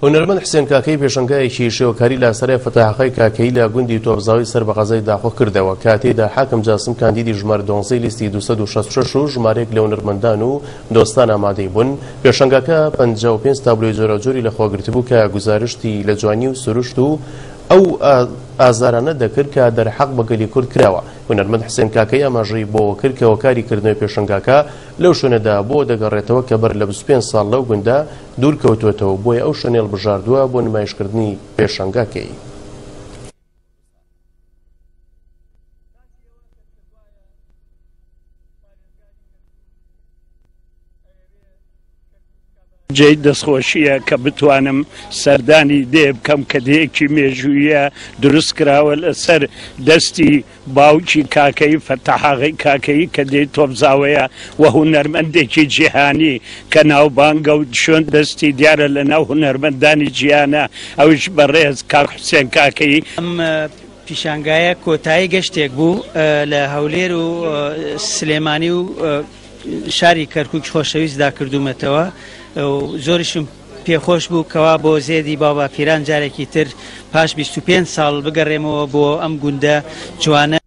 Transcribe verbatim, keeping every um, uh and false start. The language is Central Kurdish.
هونەرمەند حسێن کاکەیی پێشەنگایەکی شێوەکاری لە سەرای فەتاحەقای کاکەیی لە گوندی تۆپزاوی سەر بە قەزای داقۆ کردەوە کە تێیدا حاکم جاسم کاندیدی ژمارە دوانزەی لیستی دوو سەد و شەست و شەش و ژمارەیەک لە هونەرمەندان و دۆستان ئامادەی بوون. پێشەنگاکە پەنجا و پێنج تابلۆی جۆراوجۆری لەخۆگرتبوو کە گوزارشتی لە جوانی و سروشت و ئەو ئازارانە دەکرد کە دەرحەق بە گەلی کورد کراوە. هونەرمەند حسێن کاکەیی ئاماژەی بۆوە کرد کە هۆکاری کردنەوەی پێشەنگاکە لەو شوێنەدا بۆ دەگەڕێتەوە کە بەر لە بیست و پێنج ساڵ لەو گوندە دوور کەوتووەتەوە، بۆیە ئەو شوێنەی هەڵبژاردووە بۆ نمایشکردنی پێشەنگاکەی. جێی دەستخۆشییە کە بتوانم سەردانی دێ بکەم کە دێیەکی مێژوویە دروست کراوە لەسەر دەستی باوکی کاکەیی فەتاحاغی کاکەیی کە دێی تۆپزاوەیە و هونەرمەندێکی جیهانی کە ناوبانگە و شوێن دەستی دیارە لە ناو هونەرمەندانی جیهانە، ئەویش بەڕێز کاک حوسێن کاکەیی. ئەم پیشانگایە کۆتایی گەشتێک بوو لە هەولێر و سلێمانی و شاری کەرکووکی خۆشەویستدا کردوومەتەوە و زۆریشم پێخۆش بوو کەوا بۆ زێدی باوباپیران جارێکی تر پاش بیست و پێنج ساڵ بگەڕێمەوە بۆ ئەم گوندە جوانە.